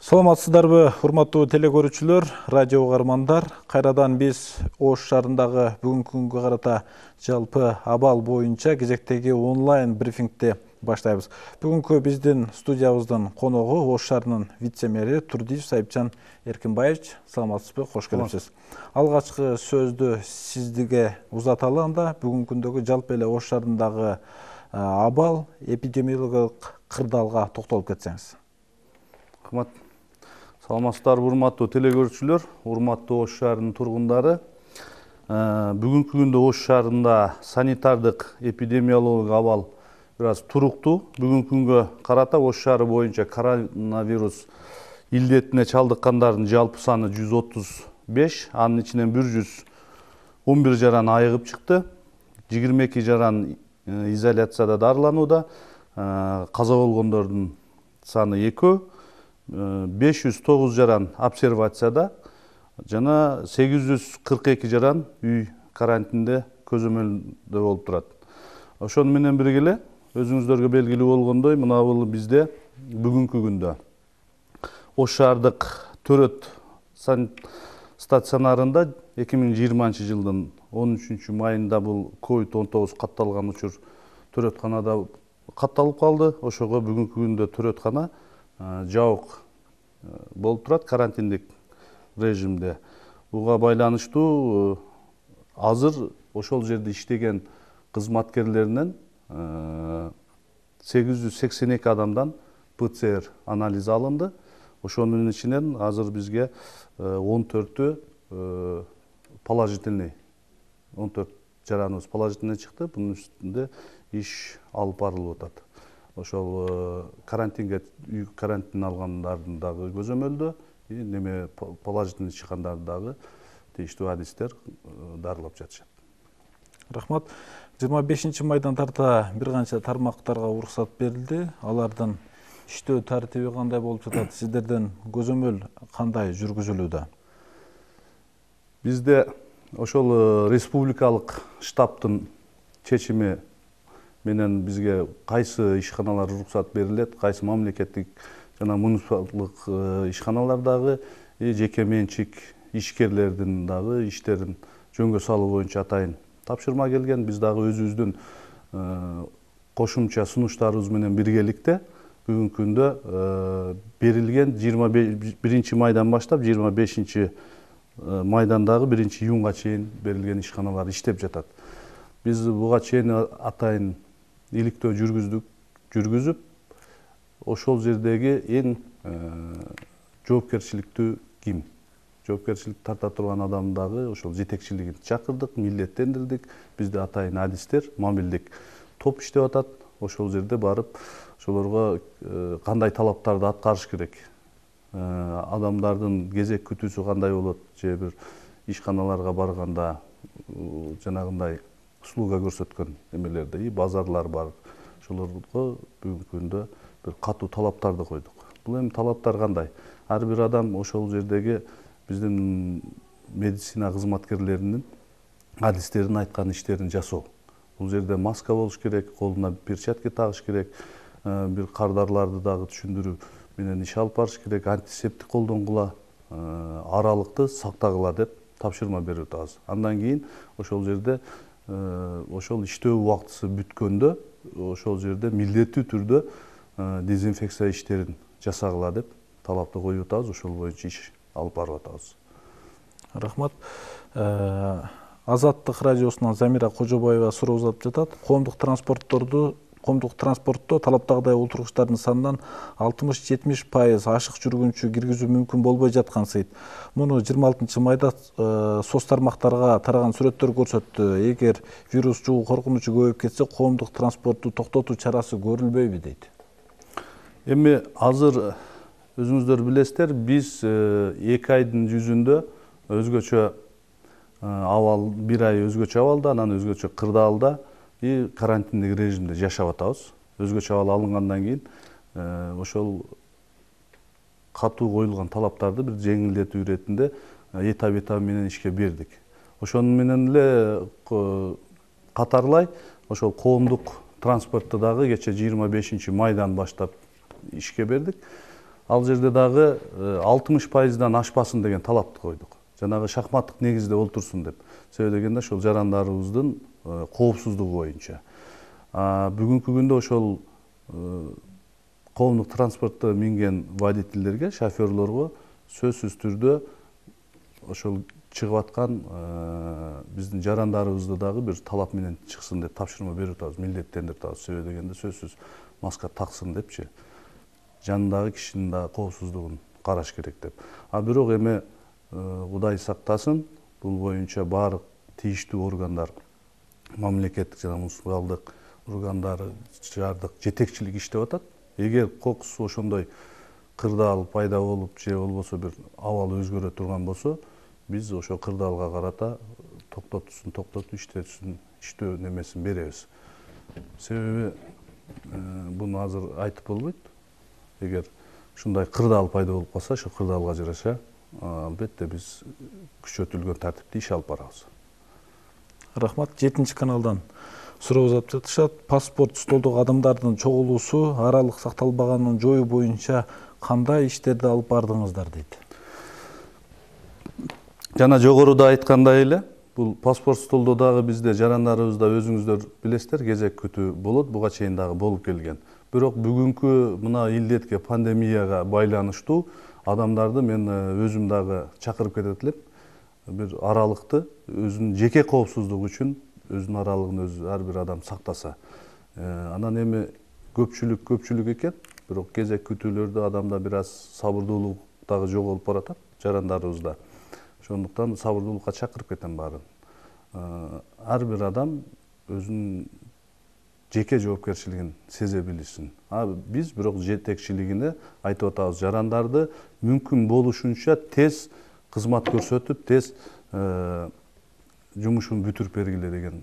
Саламатсыздарбы, урматтуу телекөрүүчүлөр, радио угармандар. Кайрадан биз Ош шаарындагы бүгүнкү күнгө карата жалпы абал боюнча кезектеги онлайн брифингди баштайбыз. Бүгүнкү биздин студиябыздын коногу Ош шаарынын вице-мэри Турдиев Сайыпчан Эркинбаевич. Саламатсызбы, кош келипсиз. Алгачкы сөздү сизге узаталы анда. Бүгүнкү күндөгү жалпы эле Ош шаарындагы абал, эпидемиологиялык кырдаалга токтолуп кетсеңиз. Рахмат. Саламатсыздарбы, урматтуу телекөрүүчүлөр, урматтуу Ош шаарынын тургундары. Бүгүнкү күндө Ош шаарында санитардык эпидемиологиялык абал бир аз туруктуу. Бүгүнкү күнгө карата Ош шаары боюнча коронавирус илдетине чалдыккандардын жалпы саны 135, анын ичинен 111 жаран айыгып чыкты. 22 жаран изоляцияда дарыланууда. Каза болгондордун саны 2. 509 жаран обсервацияда жана 842 жаран үй карантинде көзөмөлдө болуп турат. Ошону менен бирге эле өзүңүздөргө белгилүү болгондой, мына бул бизде бүгүнкү күндө Ош шаардык төрөт стационарында 2020 жылдын 13 майында бул COVID-19 катталган учур төрөтканада катталып калды. Ошого бүгүнкү күндө төрөткана жабык болуп турат карантиндик режимде. Буга байланыштуу азыр ошол жерде иштеген кызматкерлеринен 882 адамдан ПЦР анализи алынды. Ошонун ичинен азыр бизге 14 положительный, 14 жараныбыз положительный чыкты. Бунун үстүндө иш алып барылып атат. Ошол карантинге үй карантин алгандардын дагы көзөмөлдө, неме положительный чыккандарды дагы тийиштүү адистер дарылап жатышат. Рахмат. 25 майдан тарта бир канча тармактарга уруксат берилди. Алардын иштөө тартиби кандай болуп жатат? Сиздерден көзөмөл кандай жүргүзүлүүдө? Бизде ошол республикалык штабтын чечими менен бизге кайсы ишканалар уруксат берилет, кайсы мамлекеттик жана муниципалдык ишканалар дагы жеке менчик ишкерлердин дагы иштерин жөнгө салуу боюнча атайын тапшырма келген. Биз дагы өзүбүздүн кошумча сунуштарыбыз менен биргеликте бүгүнкү күндө берилген 21 майдан баштап 25 майдан дагы 1 июнга чейин берилген ишканалар иштеп жатат. Биз буга чейин атайын иликтөө жүргүзүп, ошол жердеги эң жоопкерчиликтүү ким? Жоопкерчилик тарта турган адам дагы ошол жетекчилигин чакырдык, милдеттендирдик. Бизде атайын адистер, мобилдик топ иштеп атат. Ошол жерде барып, ошолорго кандай талаптарды аткарыш керек? Адамдардын кезек күтүүсү кандай болот? Же бир ишканаларга барганда жанагындай услуга көрсөткөн эмелерде, базарлар бар. Ошолорго бүгүнкү күндө бир катуу талаптарды койдук. Бул эми талаптар кандай? Ар бир адам ошол жердеги биздин медицина кызматкерлеринин адистердин айткан иштерин жасоо. Бул жерде маска болуш керек, колуна перчатка тагыш керек, бир кардарларды дагы түшүндүрүү менен иш алып барыш керек, антисептик колдонгула, аралыкты сактагыла деп тапшырма берип атабыз. Андан кийин ошол жерде ошол иштөө убактысы бүткөндө ошол жерде милдеттүү түрдө дезинфекция иштерин жасагыла деп талапты коюп атабыз. Ошол боюнча иш алып барып атабыз. Рахмат. Азаттык радиосунан Замира Кожобаева суроо узатып жатат. Коомдук транспортто талаптагыдай олтургучтардын санынан 60-70% ашык жүргүнчү киргизүү мүмкүн болбой жаткансыйт. Муну 26 майда соц тармактарга тараган сүрөттөр көрсөттү. Эгер вирус жугуу коркунучу көбөйүп кетсе, коомдук транспортту токтотуу чарасы көрүлбөйбү дейт. Эми азыр өзүңүздөр билесиздер, биз 2 айдын жүзүндө өзгөчө абал, 1 ай өзгөчө абалда, анан өзгөчө кырдаалда карантиндик режимде жашап атабыз. Өзгөчө абал алынгандан кийин ошол катуу коюлган талаптарды бир жеңилдетүү иретинде этап менен ишке бердик. Ошону менен эле катарлай ошол коомдук транспортто дагы кече 25 майдан баштап ишке бердик. ал жерде дагы 60%дан ашпасын деген талапты койдук. Жанагы шахматтык негизде олтурсун деп. Себеби дегенде ошол жарандарыбыздын коопсуздугу боюнча. Бүгүнкү күндө ошол коомдук транспортто минген водительдерге, шоферлорго сөзсүз түрдө ошол чыгып аткан биздин жарандарыбызды дагы бир талап менен чыксын деп тапшырма берип атабыз, милдеттендирип атабыз. Себеби дегенде сөзсүз маска таксын депчи. Жанындагы кишинин дагы коопсуздугун караш керек деп. Бирок эми Кудай сактасын, бул боюнча баардык тийиштүү органдар, мамлекеттик жана муниципалдык органдары, шаардык жетекчилик иштеп атат. Эгер кокус ошондой кырдаал пайда болуп же болбосо бир абал өзгөрө турган болсо, биз ошо кырдаалга карата токтотуп иштөө немесин беребиз. Себеби буну азыр айтып болбойт. Эгер ушундай кырдаал пайда болуп калса, ошо кырдаалга жараша албетте биз күчөтүлгөн тартипте иш алып барабыз. Рахмат. 7 каналдан суроо uzatып жатышат. Паспорт столдогу адамдардын чогулуусу аралык сакталбаганын жоюу боюнча кандай иштерди алып бардыңыздар дейт. Жана жогоруда айткандай эле, бул паспорт столдо дагы бизде жарандарыбызда өзүңүздөр билесиздер, кезек күтүү болот, буга чейин дагы болуп келген. Бирок бүгүнкү мына илдетке, пандемияга байланыштуу адамдарды мен өзүм дагы чакырып кетет элем. Бир аралыкты өзүнүн жеке коопсуздугу үчүн өзүнүн аралыгын өзү ар бир адам сактаса. Анан эми көпчүлүк экен, бирок кезек күтүүлөрдө адамда бир аз сабырдуулук дагы жоголуп баратат жарандарыбызда. Ошондуктан сабырдуулукка чакырып кетем баарын. Ар бир адам өзүнүн жеке жоопкерчилигин сезе билишсин. Биз бирок жетекчилигине айтып атабыз, жарандарды мүмкүн болушунча тез кызмат көрсөтүп, тез жумушун бүтүрүп бергиле деген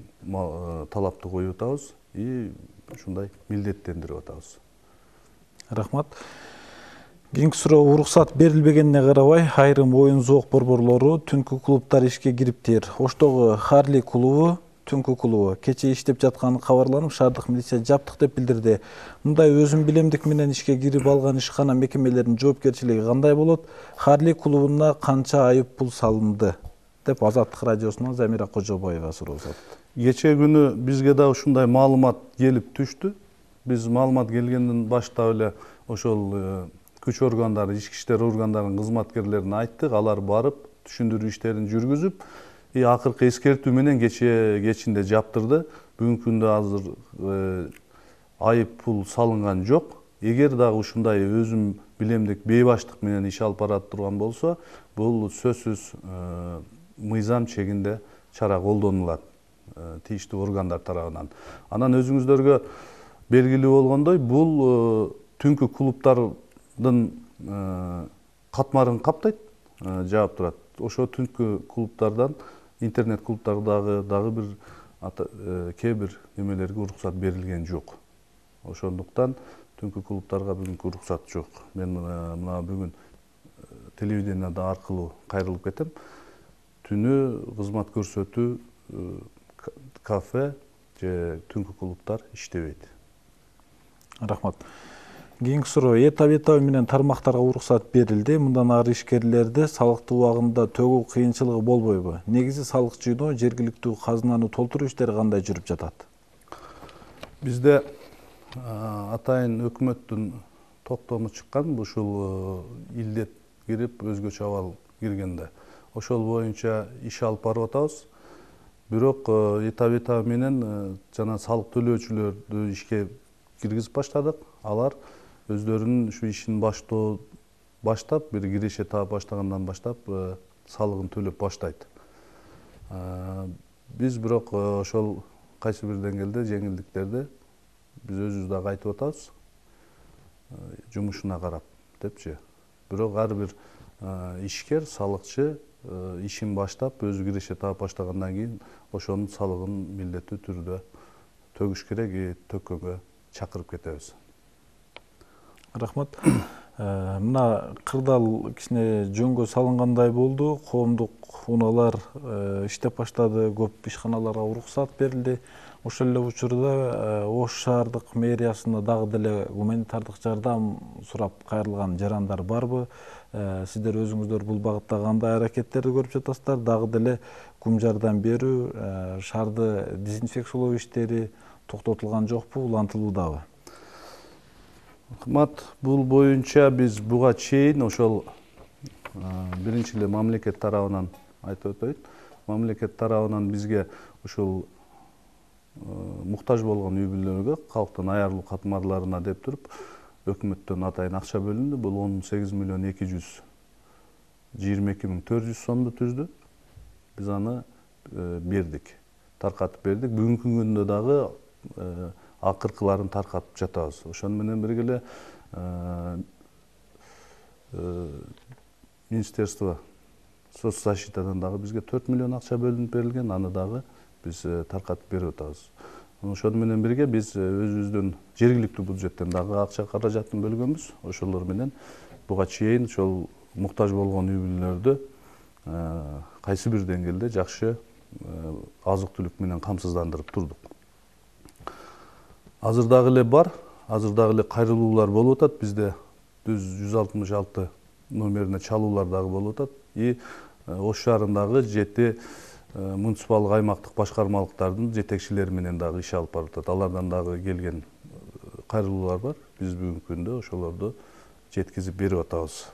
талапты коюп атабыз и ушундай милдеттендирип атабыз. Рахмат. Кийинки суроо: уруксат берилбегенине карабай, айрым оюн зоок борборлору, түнкү клубдар ишке кириптир. Оштогу Харли клубу, түнкү клубу кече иштеп жатканы кабарланып, шаардык милиция жаптык деп билдирди. Мындай өзүн билемдик менен ишке кирип алган ишкана мекемелеринин жоопкерчилиги кандай болот? Харли клубуна канча айып пул салынды? Деп Азаттык радиосунан Замира Кожобаева суроо uzatты. Кече күнү бизге да ушундай маалымат келип түштү. Биз маалымат келгенден баштап эле ошол күч органдары, ички иштер органдарынын кызматкерлерине айттык. Алар барып, түшүндүрүү иштерин жүргүзүп, акыркы эскертүү менен кечинде жаптырды. Бүгүнкү күндө азыр айып пул салынган жок. Эгер дагы ушундай өзүм билемдик бейбаштык менен иш алып бара турган болсо, бул сөзсүз мыйзам чегинде чара колдонулат тийиштүү органдар тарабынан. Анан өзүңүздөргө белгилүү болгондой, бул түнкү клубдардын катмарын каптайт, жаап турат. Ошо түнкү клубдардан, интернет клубдардагы дагы бир кээ бир немелерге уруксат берилген жок. Ошондуктан түнкү клубдарга бүгүнкү уруксат жок. Мен мына бүгүн телевидениеда аркылуу кайрылып кетем. Түнү кызмат көрсөтүү кафе же түнкү клубдар иштебейт. Рахмат. Кийинки суроо: табитабы менен тармактарга уруксат берилди. Мындан ары ишкерлерди салыкты убагында төгүү кыйынчылыгы болбойбу? Негизи салык жыйноо, жергиликтүү казынаны толтуруу иштери кандай жүрүп жатат? Бизде атайын өкмөттүн токтому чыккан, ушул илдет кирип, өзгөчө абал киргенде. Ошол боюнча иш алып барып атабыз. Бирок табитабы менен жана салык төлөөчүлөрдү ишке киргизип баштадык. Алар өздөрүнүн ушу ишин баштап, бир киреше таап баштагандан баштап салыгын төлөп баштайт. Биз бирок ошол кайсы бир деңгээлде жеңилдиктерди биз өзүбүз дагы айтып атабыз, жумушуна карап депчи. Бирок ар бир ишкер, салыкчы ишин баштап, өзү киреше таап баштагандан кийин ошонун салыгын милдеттүү түрдө төгүш керек, төккөнгө чакырып кетебиз. Рахмат. Мына кырдаал кичине жөнгө салынгандай болду. Коомдук унаалар иштеп баштады, көп ишканаларга уруксат берилди. Ошол эле учурда Ош шаардык мэриясына дагы деле гуманитардык жардам сурап кайрылган жарандар барбы? Сиздер өзүңүздөр бул багытта кандай аракеттерди көрүп жатасыздар? Дагы деле кум жардам берүү, шаарды дезинфекциялоо иштери токтотулган жокпу, улантылуудабы? Рахмат. Бул боюнча биз буга чейин ошол биринчи эле мамлекет тарабынан айтып өтөйүн. Мамлекет тарабынан бизге ушул муктаж болгон үй бүлөлөргө, калктын аярлуу катмарларына деп туруп, өкмөттөн атайын акча бөлүндү. Бул 18.222.400 сомду түздү. Биз аны бердик, таркатып бердик. Бүгүнкү күндө дагы акыркыларын таркатып жатабыз. Ошону менен бирге эле Министерство соцзащитадан дагы бизге 4 миллион акча бөлүнүп берилген, аны дагы биз таркатып берип атабыз. Ошону менен бирге биз өзүбүздүн жергиликтүү бюджеттен дагы акча каражатын бөлгөнбүз. Ошолор менен буга чейин ошол муктаж болгон үй бүлөлөрдү кайсы бир деңгээлде жакшы азык түлүк менен камсыздандырып турдук. Азыр дагы эле бар, азыр дагы эле кайрылуулар болуп атат. Бизде 166 номерине чалуулар дагы болуп атат. Ош шаарындагы 7 муниципалдык аймактык башкармалыктардын жетекчилери менен дагы иш алып барып атат. Алардан дагы келген кайрылуулар бар. Биз бүгүнкү күндө ошолорду жеткизип берип атабыз.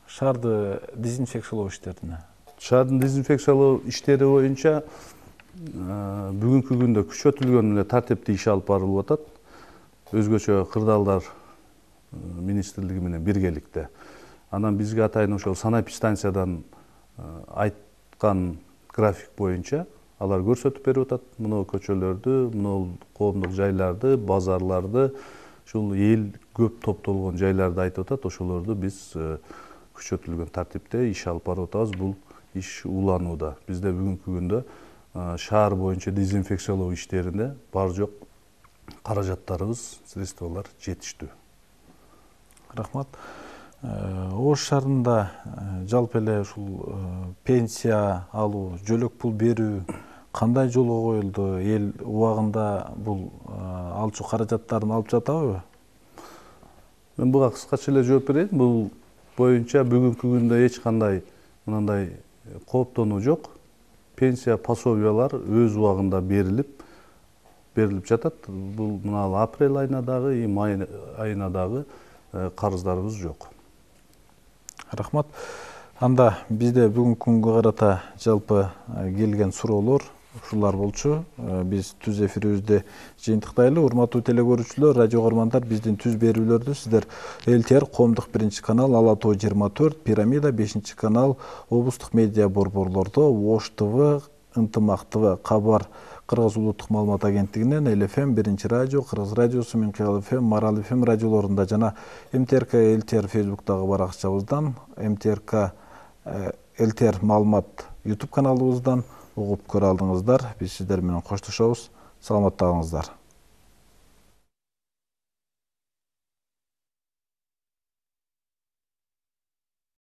Шаарды дезинфекциялоо иштерине? Шаардын дезинфекциялоо иштери боюнча бүгүнкү күндө күчөтүлгөн эле тартипти иш алып барылып атат. Өзгөчө кырдаалдар министрлиги менен биргеликте. Анан бизге атайын ошол санэпидстанциядан айткан график боюнча алар көрсөтүп берип атат. Мына көчөлөрдү, мына коомдук жайларды, базарларды, ушул эл көп топтолгон жайларды айтып атат. Ошолорду биз күчөтүлгөн тартипте иш алып барып атабыз. Бул иш уланууда. Бизде бүгүнкү күндө шаар боюнча дезинфекциялоо иштерине бар жок каражаттарыбыз, средстволор жетиштүү. Рахмат. Ош шаарында жалпы эле ушул пенсия алуу, жөлөк пул берүү кандай жолго коюлду? Эл убагында бул алчу каражаттарын алып жатабы? Мен буга кыскача эле жооп берейин. Бул боюнча бүгүнкү күндө эч кандай мындай кооптонуу жок. Пенсия пособиялар өз убагында берилип жатат. Бул мына апрель айына дагы, май айына дагы карыздарыбыз жок. Рахмат. Анда бизде бүгүнкү күнгө карата жалпы келген суроолор ушулар болчу. Биз түз эфирибизди жыйынтыктайлы. Урматтуу телекөрүүчүлөр, радио угармандар, биздин түз берүүлөрдү сиздер ЛТР коомдук 1-канал, Ала Тоо 24, Пирамида 5-канал, облустук медиа борборлордо, Ош ТВ, Ынтымак ТВ, Кабар, Кыргыз улуттук маалымат агенттигинен, ЛФМ, 1-радио, Кыргыз радиосу, Минкыял ФМ, Марал ФМ радиолорунда жана МТРК ЛТР Фейсбуктагы баракчабыздан, МТРК ЛТР маалымат YouTube каналыбыздан угуп көрө алдыңыздар. Биз сиздер менен коштошобуз. Саламатта калыңыздар.